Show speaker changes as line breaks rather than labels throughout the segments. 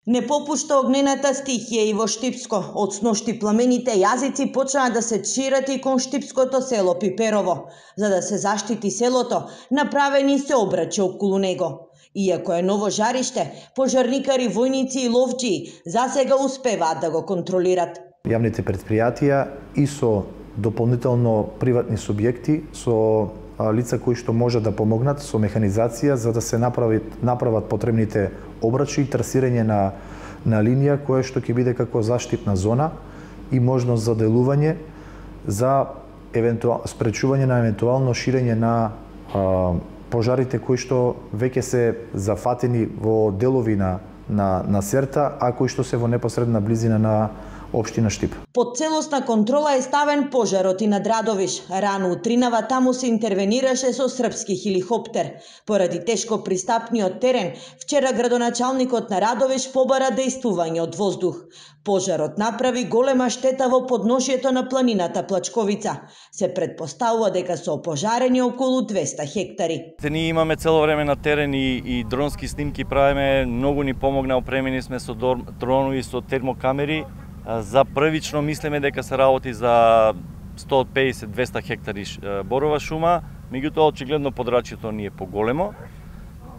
Не попушта огнената стихија и во Штипско. Од сношти пламените јазици почнаа да се шират и кон штипското село Пиперово. За да се заштити селото, направени се обрачи околу него. Иако е ново жариште, пожарникари, војници и ловджии засега успеваат да го контролират.
Јавните предпријатија и со дополнително приватни субјекти, со лица кои што можат да помогнат со механизација за да се направат потребните обрачи и трасирање на линија која што ќе биде како заштитна зона и можност за делување за спречување на евентуално ширење на пожарите кои што веќе се зафатени во делови на Серта, а кои што се во непосредна близина на општина Штип.
Под целосна контрола е ставен пожарот и над Радовиш. Рано утринава таму се интервенираше со српски хеликоптер. Поради тешко пристапниот терен, вчера градоначалникот на Радовиш побара дејствување од воздух. Пожарот направи голема штета во подношието на планината Плачковица. Се претпоставува дека се опожарени околу 200 хектари.
Ние имаме цело време на терен и дронски снимки правиме, многу ни помогна, опремени сме со дронови, со термокамери. За првично мислиме дека се работи за 150-200 хектари борова шума, меѓутоа очигледно подрачјето ни е поголемо.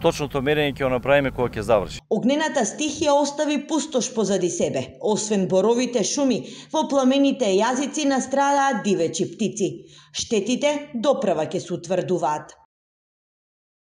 Точното мерење ќе го направиме кога ќе заврши.
Огнената стихија остави пустош позади себе. Освен боровите шуми, во пламените јазици настрадаат дивечи птици. Штетите допрева ќе се утврдуваат.